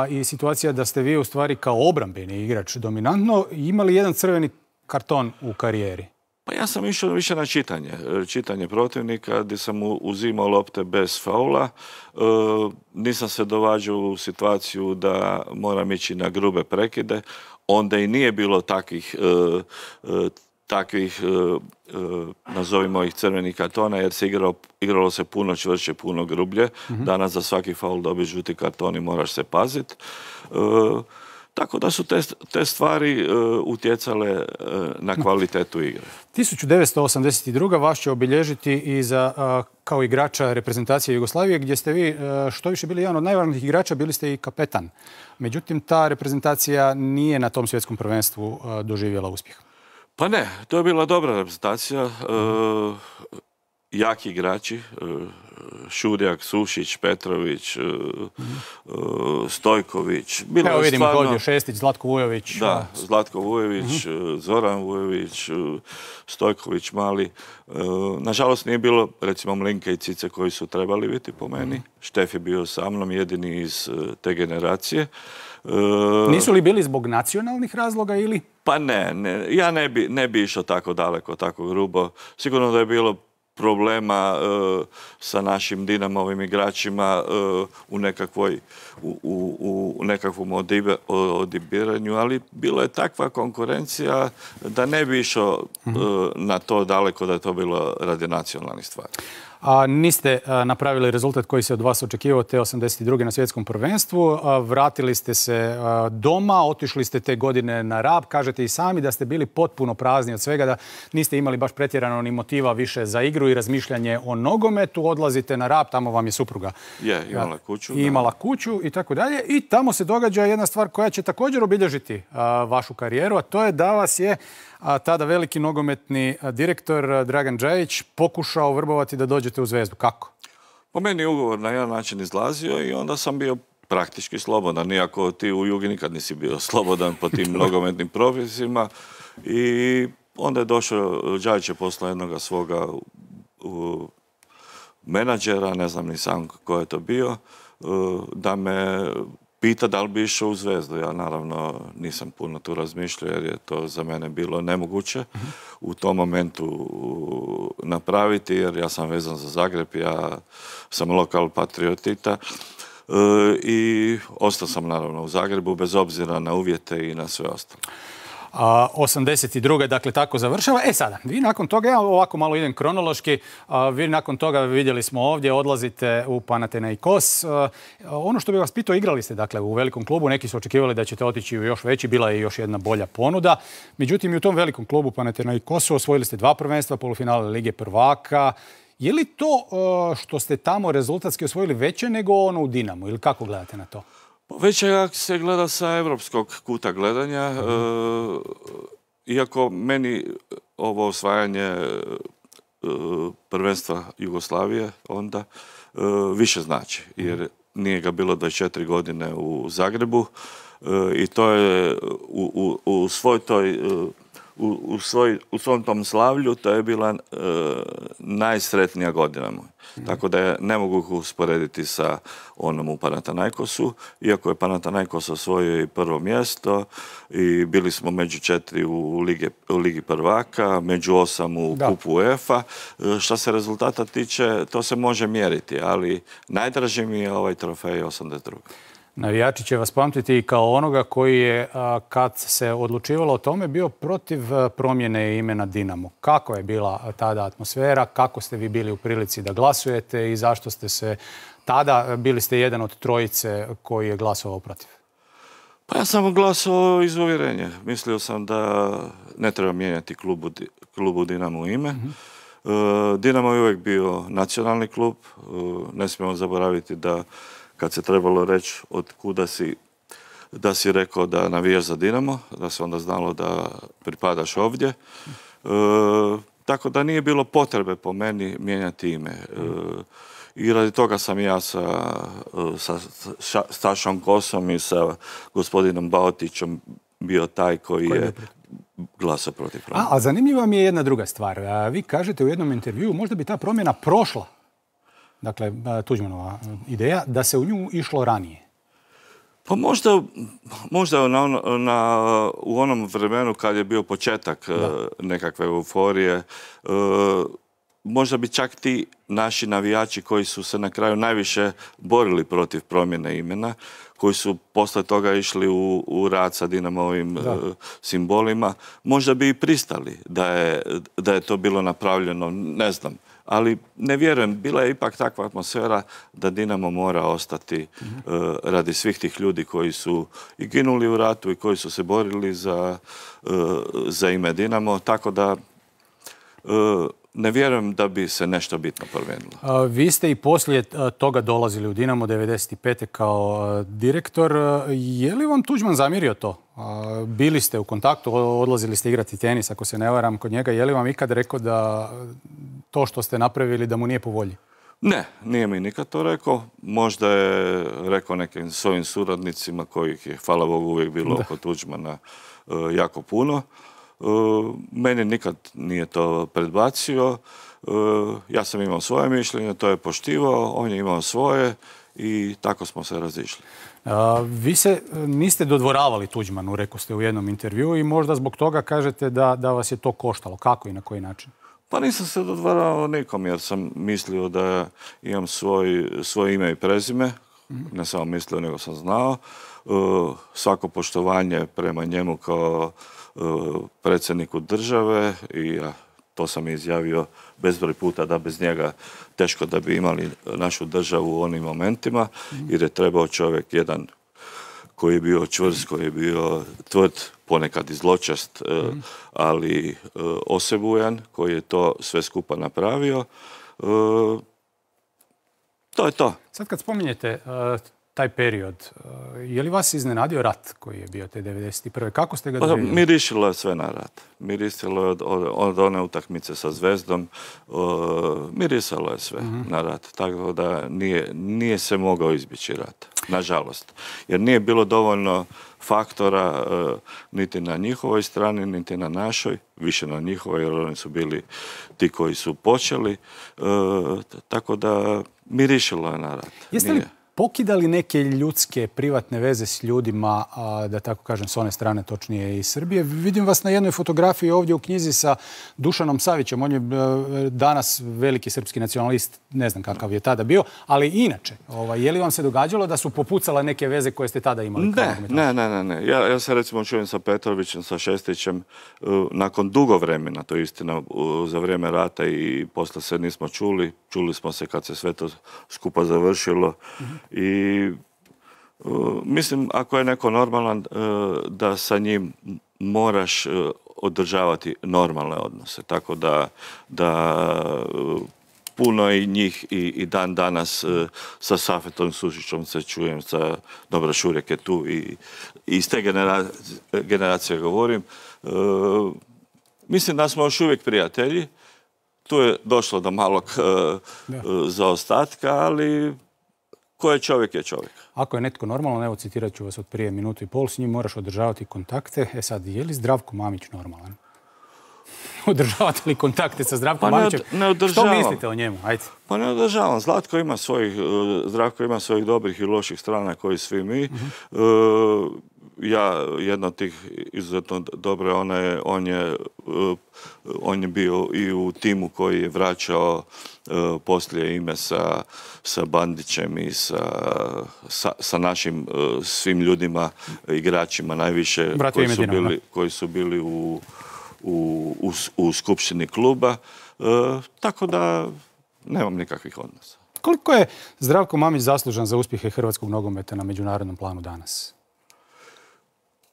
i situacija da ste vi u stvari kao obrambeni igrač dominantno imali jedan crveni karton u karijeri. Pa ja sam išao više na čitanje protivnika, gdje sam uzimao lopte bez faula. Nisam se dovađao u situaciju da moram ići na grube prekide. Onda i nije bilo takvih nazovimo ih crvenih kartona, jer se igralo se puno čvršće, puno grublje. Danas za svaki faul dobiješ žuti karton i moraš se paziti. Tako da su te stvari utjecale na kvalitetu igre. 1982. vas će obilježiti i kao igrača reprezentacije Jugoslavije, gdje ste vi što više bili jedan od najvažnijih igrača, bili ste i kapetan. Međutim, ta reprezentacija nije na tom svjetskom prvenstvu doživjela uspjeh. Pa ne, to je bila dobra reprezentacija. Jaki igrači, Šurjak, Sušić, Petrović, Stojković. Evo vidimo ovdje Šestić, Zlatko Vujović. Da, Zlatko Vujović, Zoran Vujović, Stojković mali. Nažalost nije bilo recimo Mlinke i Cice koji su trebali biti po meni. Štef je bio sa mnom, jedini iz te generacije. Nisu li bili zbog nacionalnih razloga ili? Pa ne, ja ne bi išao tako daleko, tako grubo. Sigurno da je bilo problema sa našim Dinamovim igračima u nekakvom odibiranju, ali bilo je takva konkurencija da ne bi išao na to daleko, da je to bilo radi nacionalnih stvari. A niste napravili rezultat koji se od vas očekivao te 82. na svjetskom prvenstvu. Vratili ste se doma, otišli ste te godine na Rab. Kažete i sami da ste bili potpuno prazni od svega, da niste imali baš pretjerano ni motiva više za igru i razmišljanje o nogometu. Odlazite na Rab, tamo vam je supruga imala kuću. Imala kuću i tako dalje. I tamo se događa jedna stvar koja će također obilježiti vašu karijeru, a to je da vas je tada veliki nogometni direktor Dragan Džajić pokušao vrbovati da dođete u Zvezdu. Kako? Po meni je ugovor na jedan način izlazio i onda sam bio praktički slobodan. Iako ti u Jugi nikad nisi bio slobodan po tim nogometnim propisima. I onda je došao, Džajić je poslao jednog svoga menadžera, ne znam ni sam ko je to bio, da me pita da li bi išao u Zvezdu. Ja naravno nisam puno tu razmišljao jer je to za mene bilo nemoguće u tom momentu napraviti, jer ja sam vezan za Zagreb, ja sam lokal patriotita i ostao sam naravno u Zagrebu bez obzira na uvjete i na sve ostalo. 82. dakle tako završava. Sada, vi nakon toga, ja ovako malo idem kronološki, vi nakon toga vidjeli smo ovdje, odlazite u Panathinaikos. Ono što bih vas pitao, igrali ste dakle u velikom klubu, neki su očekivali da ćete otići u još veći, bila je još jedna bolja ponuda. Međutim, i u tom velikom klubu Panathinaikosu osvojili ste 2 prvenstva, polufinale Lige prvaka. Je li to što ste tamo rezultatski osvojili veće nego ono u Dinamu ili kako gledate na to? Već se gleda sa evropskog kuta gledanja, iako meni ovo osvajanje prvenstva Jugoslavije onda više znači, jer nije ga bilo 24 godine u Zagrebu i to je u svom tom slavlju to je bila najsretnija godina moja. Tako da je ne mogu usporediti sa onom u Panathinaikosu, iako je Panathinaikos osvojio i prvo mjesto i bili smo među 4 u Ligi prvaka, među 8 u kupu UEFA. Što se rezultata tiče, to se može mjeriti, ali najdraži mi je ovaj trofej 82. Navijači će vas pamtiti i kao onoga koji je, kad se odlučivalo o tome, bio protiv promjene imena Dinamo. Kako je bila tada atmosfera, kako ste vi bili u prilici da glasujete i zašto ste se tada, bili ste jedan od trojice koji je glasovao protiv? Pa ja sam glasovao iz uvjerenja. Mislio sam da ne treba mijenjati klubu Dinamo ime. Dinamo je uvijek bio nacionalni klub. Ne smijemo zaboraviti da kad se trebalo reći od kuda da si rekao da navijaš za Dinamo, da se onda znalo da pripadaš ovdje. Tako da nije bilo potrebe po meni mijenjati ime. I radi toga sam ja sa Stašom Kosom i sa gospodinom Baotićem bio taj koji je glasao protiv promjene. A zanimljiva mi je jedna druga stvar. Vi kažete u jednom intervjuu, možda bi ta promjena prošla, dakle, Tuđmanova ideja, da se u nju išlo ranije. Pa možda u onom vremenu kad je bio početak nekakve euforije, možda bi čak ti naši navijači koji su se na kraju najviše borili protiv promjene imena, koji su posle toga išli u rad sa Dinamovim simbolima, možda bi i pristali da je to bilo napravljeno, ne znam. Ali ne vjerujem, bila je ipak takva atmosfera da Dinamo mora ostati radi svih tih ljudi koji su i ginuli u ratu i koji su se borili za ime Dinamo, tako da ne vjerujem da bi se nešto bitno promijenilo. Vi ste i poslije toga dolazili u Dinamo 95. kao direktor. Je li vam Tuđman zamjerio to? Bili ste u kontaktu, odlazili ste igrati tenis, ako se ne varam, kod njega. Je li vam ikad rekao da to što ste napravili da mu nije po volji? Ne, nije mi nikad to rekao. Možda je rekao nekim svojim suradnicima kojih je, hvala Bogu, uvijek bilo oko Tuđmana jako puno. Meni nikad nije to predbacio. Ja sam imao svoje mišljenje, to je poštivao, on je imao svoje i tako smo se razišli. Vi se niste dodvoravali Tuđmanu, rekao ste u jednom intervjuu, i možda zbog toga kažete da vas je to koštalo. Kako i na koji način? Pa nisam se dodvoravao nikom jer sam mislio da imam svoje ime i prezime. Ne samo mislio, nego sam znao. Svako poštovanje prema njemu kao predsjedniku države i to sam izjavio bezbroj puta da bez njega teško da bi imali našu državu u onim momentima, jer je trebao čovjek jedan koji je bio čvrst, koji je bio tvrd, ponekad i zločest, ali osebujan, koji je to sve skupa napravio. To je to. Sad kad spominjete taj period, je li vas iznenadio rat koji je bio te 91. Kako ste ga doživjeli? Mirišilo je sve na rat. Mirisalo je od one utakmice sa Zvezdom. Mirisalo je sve na rat. Tako da nije se mogao izbjeći rat. Nažalost. Jer nije bilo dovoljno faktora niti na njihovoj strani, niti na našoj. Više na njihovoj, jer oni su bili ti koji su počeli. Tako da mirišilo je na rat. Jeste li pokidali neke ljudske, privatne veze s ljudima, da tako kažem, s one strane, točnije iz Srbije? Vidim vas na jednoj fotografiji ovdje u knjizi sa Dušanom Savićem. On je danas veliki srpski nacionalist, ne znam kakav je tada bio, ali inače, je li vam se događalo da su popucale neke veze koje ste tada imali? Ne. Ja se recimo čujem sa Petrovićem, sa Šestićem, nakon dugo vremena, to je istina, za vrijeme rata i posle se nismo čuli. Čuli smo se kad se sve to skupa završilo. I mislim, ako je neko normalan, da sa njim moraš održavati normalne odnose. Tako da puno i njih i dan danas sa Safetom Sušićom se čujem, sa Dobra Šurek je tu i iz te generacije govorim. Mislim da smo još uvijek prijatelji. Tu je došlo do malog zaostatka, ali ko je čovjek je čovjek. Ako je netko normalan, evo citirat ću vas od prije minutu i pol, s njim moraš održavati kontakte. Sad, je li Zdravko Mamić normalan? Održavate li kontakte sa Zdravkom Mamićem? Ne održavam. Što mislite o njemu? Ajde. Pa ne održavam. Zdravko ima svojih dobrih i loših strana koji svi mi. Jedna od tih izuzetno dobre, on je bio i u timu koji je vraćao poslije ime sa Bandićem i sa našim svim ljudima, igračima najviše koji su bili u skupštini kluba. Tako da nemam nikakvih odnosa. Koliko je Zdravko Mamić zaslužan za uspjehe hrvatskog nogometa na međunarodnom planu danas?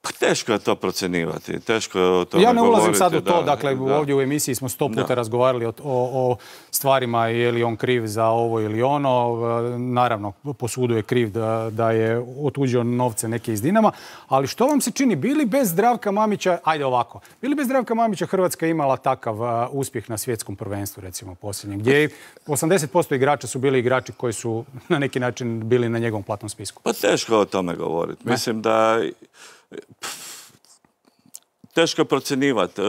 Pa teško je to procjenjivati, teško je o tome govoriti. Ja ne ulazim sad u to, dakle ovdje u emisiji smo 100 puta razgovarali o stvarima, je li on kriv za ovo ili ono. Naravno, po sudu je kriv da je otuđio novce neke iz Dinama, ali što vam se čini, bili bez Zdravka Mamića, ajde ovako, bili bez Zdravka Mamića Hrvatska imala takav uspjeh na svjetskom prvenstvu, recimo posljednjem, gdje 80% igrača su bili igrači koji su na neki način bili na njegovom platnom spisku? Pa teško je o tome govoriti. Mislim da teško je procjenjivati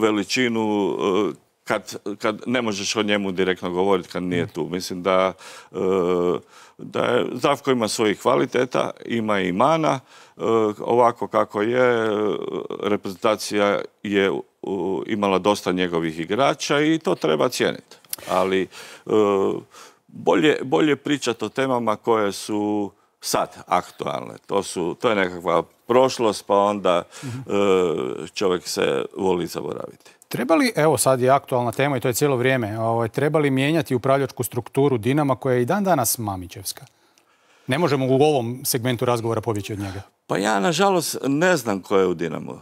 veličinu kad ne možeš o njemu direktno govoriti kad nije tu. Mislim da je Zdravko ima svojih kvaliteta, ima i mana. Ovako kako je, reprezentacija je imala dosta njegovih igrača i to treba cijeniti. Ali bolje pričati o temama koje su sad aktualne. To je nekakva prošlost, pa onda čovjek se voli zaboraviti. Treba li, evo sad je aktualna tema i to je cijelo vrijeme, treba li mijenjati upravljačku strukturu Dinama koja je i dan danas Mamićevska? Ne možemo u ovom segmentu razgovora pobjeći od njega. Pa ja, nažalost, ne znam ko je u Dinamu.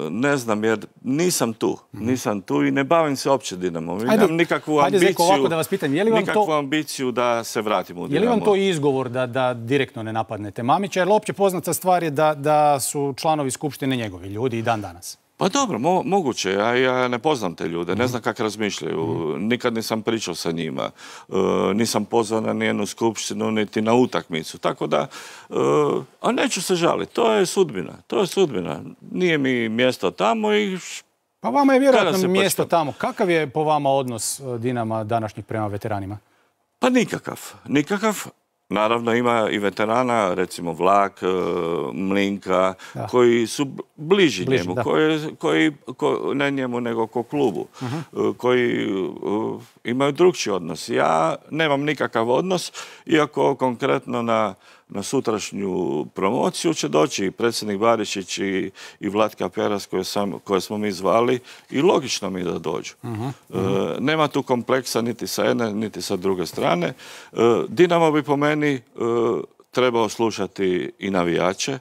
Ne znam jer nisam tu. Nisam tu i ne bavim se uopće Dinamom. Imam nikakvu ambiciju da se vratim u Dinamo. Je li vam to izgovor da direktno ne napadnete Mamića? Jer opće poznata stvar je da su članovi skupštine njegovi ljudi i dan danas. Pa dobro, moguće. Ja ne poznam te ljude, ne znam kako razmišljaju. Nikad nisam pričao sa njima. Nisam pozvan na nijednu skupštinu, niti na utakmicu. Tako da, a neću se žaliti. To je sudbina. Nije mi mjesto tamo i... Pa vama je vjerojatno mjesto tamo. Kakav je po vama odnos Dinama današnjih prema veteranima? Pa nikakav. Naravno ima i veterana, recimo Vlak, Mlinka, koji su bliži njemu, ne njemu nego ko klubu, koji imaju drukčiji odnos. Ja nemam nikakav odnos, iako konkretno na sutrašnju promociju će doći i predsjednik Barišić i Vlatka Peras koje smo mi zvali i logično mi da dođu. Nema tu kompleksa niti sa jedne, niti sa druge strane. Dinamo bi po meni trebao slušati i navijače.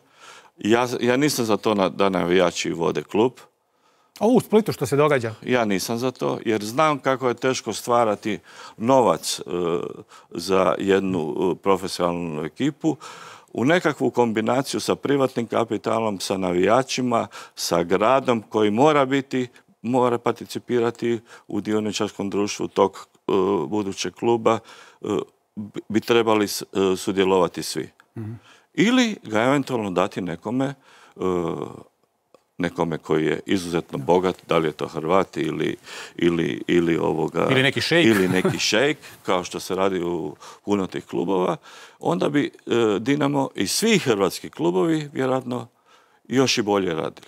Ja nisam za to da navijači vode klub. A u Splitu što se događa? Ja nisam za to, jer znam kako je teško stvarati novac za jednu profesionalnu ekipu u nekakvu kombinaciju sa privatnim kapitalom, sa navijačima, sa gradom koji mora participirati u dioničarskom društvu tog budućeg kluba, bi trebali sudjelovati svi. Ili ga eventualno dati nekome koji je izuzetno bogat, da li je to Hrvat ili neki šejk, kao što se radi u puno tih klubova, onda bi Dinamo i svi hrvatski klubovi vjerojatno još i bolje radili.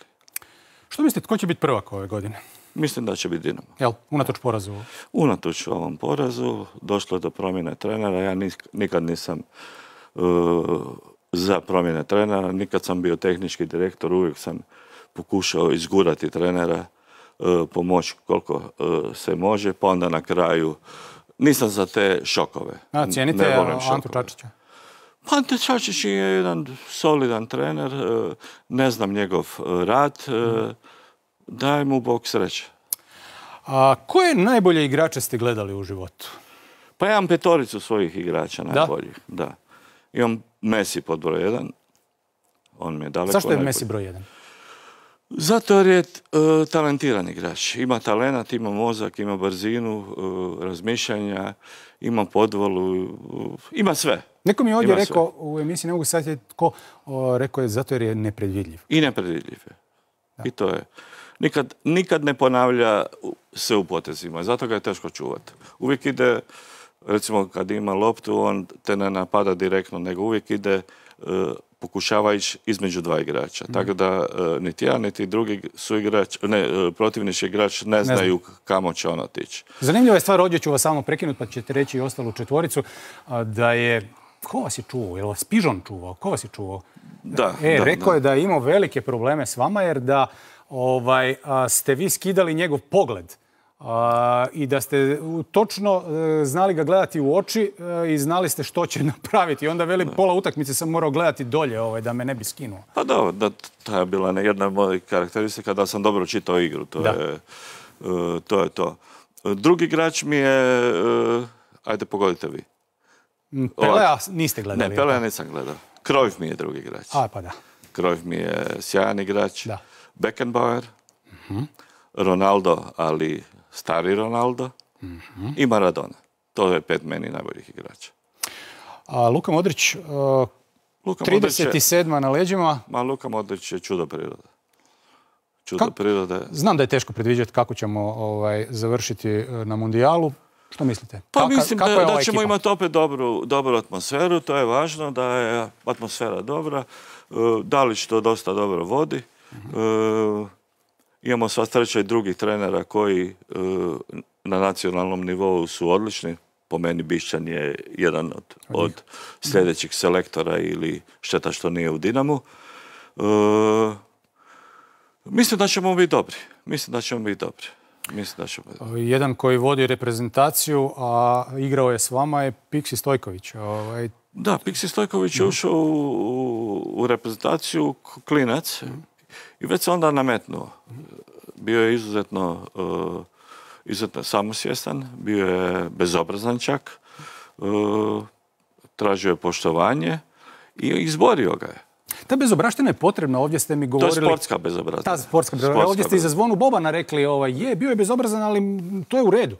Što mislite, tko će biti prvak ove godine? Mislim da će biti Dinamo. Jel, unatoč porazu? Unatoč ovom porazu došlo je do promjene trenera. Ja nikad nisam za promjene trenera. Nikad sam bio tehnički direktor, uvijek sam pokušao izgurati trenera, pomoći koliko se može, pa onda na kraju nisam za te šokove. Cijenite Antu Čačića? Pa Ante Čačić je jedan solidan trener, ne znam njegov rad, daj mu Bog sreće. A koje najbolje igrače ste gledali u životu? Pa ja imam 5 svojih igrača najboljih. Da. Imam Messi pod broj 1. On mi je daleko. Zašto je Messi broj 1? Zato jer je talentiran igrač. Ima talenat, ima mozak, ima brzinu, razmišljanja, ima podvolu, ima sve. Neko mi je ovdje rekao u emisiji, ne mogu sad sjetiti tko, rekao je zato jer je nepredvidljiv. I nepredvidljiv je. I to je. Nikad ne ponavlja se u potezima, zato ga je teško čuvati. Uvijek ide, recimo kad ima loptu, on te ne napada direktno, nego uvijek ide, pokušava ići između 2 igrača. Tako da niti jedan, niti drugi protivnički igrač ne znaju kamo će on otići. Zanimljiva je stvar, ovdje ću vas samo prekinuti, pa ćete reći i ostalu 4, da je... Ko vas je čuvao? Je li vas Pižon čuvao? Ko vas je čuvao? Rekao je da je imao velike probleme s vama, jer da ste vi skidali njegov pogled i da ste točno znali ga gledati u oči i znali ste što će napraviti. Onda veli, pola utakmice sam morao gledati dolje da me ne bi skinuo. Pa da, to je bila jedna od mojih karakteristika da sam dobro čitao igru. To je to. Drugi igrač mi je, ajde pogodite vi. Pelea niste gledali? Ne, Pelea nisam gledao. Cruyff mi je drugi igrač. Pa da. Cruyff mi je sjajan igrač. Beckenbauer, Ronaldo, ali stari Ronaldo, i Maradona. To je 5 meni najboljih igrača. Luka Modrić, 37. na leđima. Luka Modrić je čudo priroda. čudo prirode. Znam da je teško predviđati kako ćemo završiti na mundijalu. Što mislite? Pa mislim da ćemo imati opet dobru atmosferu, to je važno, da je atmosfera dobra. Dalić to dosta dobro vodi. Imamo sva sreća i drugih trenera koji na nacionalnom nivou su odlični. Po meni Bišćan je jedan od sljedećih selektora ili šteta što nije u Dinamu. Mislim da ćemo biti dobri. Jedan koji vodi reprezentaciju, a igrao je s vama, je Piksi Stojković. Da, Piksi Stojković je ušao u reprezentaciju klinac i već se onda nametnuo. Bio je izuzetno samosvjestan, bio je bezobrazan čak, tražio je poštovanje i izborio ga je. Ta bezobraština je potrebna, ovdje ste mi govorili... To je sportska bezobraština. Ta sportska bezobraština. Ovdje ste i za Zvonu Bobana rekli, bio je bezobrazan, ali to je u redu.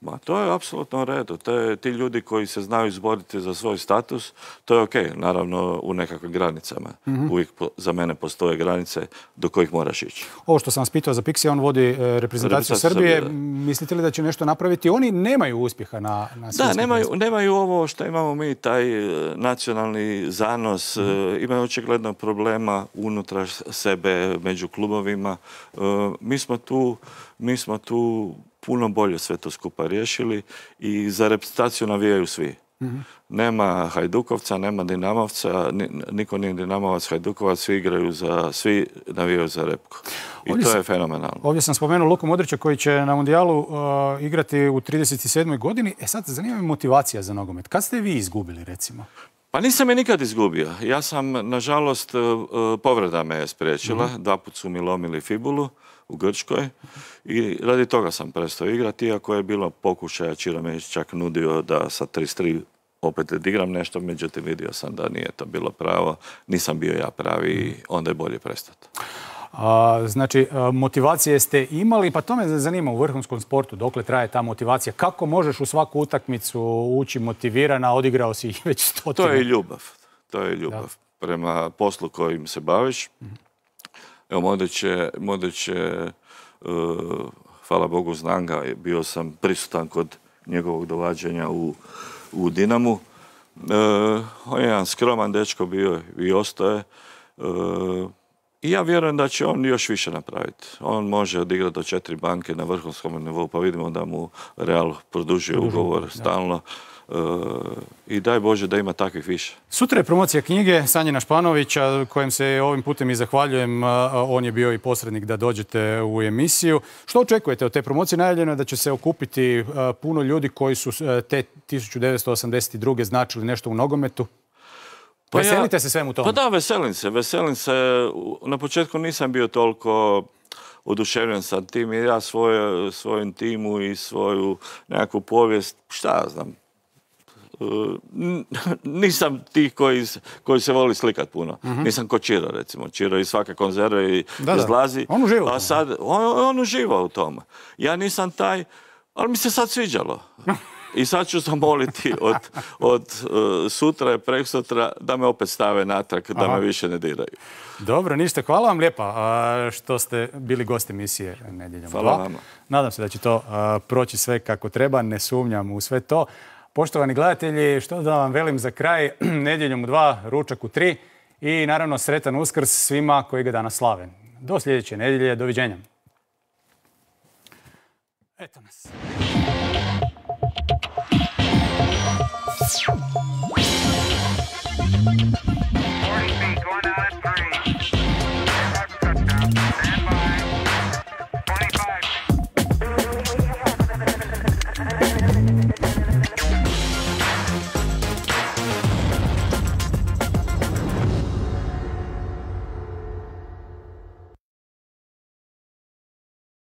Ma, to je apsolutno u redu. Ti ljudi koji se znaju izboriti za svoj status, to je okej, naravno u nekakvim granicama. Uvijek za mene postoje granice do kojih moraš ići. Ovo što sam vas pitao za Piksi, on vodi reprezentaciju Srbije. Mislite li da će nešto napraviti? Oni nemaju uspjeha na svjetskom prvenstvu. Nemaju ovo što imamo mi, taj nacionalni zanos. Imaju očigledno problema unutar sebe, među klubovima. Mi smo tu puno bolje sve to skupa riješili i za reprezentaciju navijaju svi. Nema Hajdukovca, nema Dinamovca, niko nije Dinamovac, Hajdukovac, svi navijaju za Repku. I to je fenomenalno. Ovdje sam spomenuo Luku Modrića koji će na mundijalu igrati u 37. godini. Sad, zanima me motivacija za nogomet. Kad ste vi izgubili, recimo? Pa nisam je nikad izgubio. Ja sam, nažalost, povreda me je spriječila. 2 puta su mi lomili fibulu u Grčkoj i radi toga sam prestao igrati, iako je bilo pokušaja, Čiro me čak nudio da sa 33 opet odigram nešto, međutim vidio sam da nije to bilo pravo, nisam bio ja pravi i onda je bolje prestati. Znači, motivacije ste imali, pa to me zanima u vrhunskom sportu, dokle traje ta motivacija, kako možeš u svaku utakmicu ući motivirana, odigrao si ih već 100. To je ljubav prema poslu kojim se baviš. Evo, Modrić je, hvala Bogu, znam ga, bio sam prisutan kod njegovog dovađanja u Dinamu. On je jedan skroman dečko bio i ostaje. I ja vjerujem da će on još više napraviti. On može odigrati do 4 banke na vrhunskom nivou, pa vidimo da mu Real produžuje ugovor stalno. I daj Bože da ima takvih više. Sutra je promocija knjige Sanjina Španovića, kojem se ovim putem i zahvaljujem. On je bio i posrednik da dođete u emisiju. Što očekujete od te promocije? Najavljeno je da će se okupiti puno ljudi koji su te 1982. značili nešto u nogometu. Veselite se svemu tomu? Pa da, veselim se. Na početku nisam bio toliko oduševljen sa tim, jer ja svojem timu i svoju nekakvu povijest, šta ja znam, nisam tih koji se voli slikat puno. Nisam ko Čiro, recimo. Čiro iz svake konzerve izlazi. On uživa. A sad, on uživa u tome. Ja nisam taj, ali mi se sad sviđalo. I sad ću zamoliti od sutra i preksutra da me opet stave natrag, da me više ne diraju. Dobro, ništa. Hvala vam lijepa što ste bili gost emisije Nedjeljom 2. Hvala vama. Nadam se da će to proći sve kako treba, ne sumnjam u sve to. Poštovani gledatelji, što da vam velim za kraj, Nedjeljom 2, ručak u 3 i naravno sretan Uskrs svima koji ga danas slave. Do sljedeće nedjelje, doviđenja. Eto nas.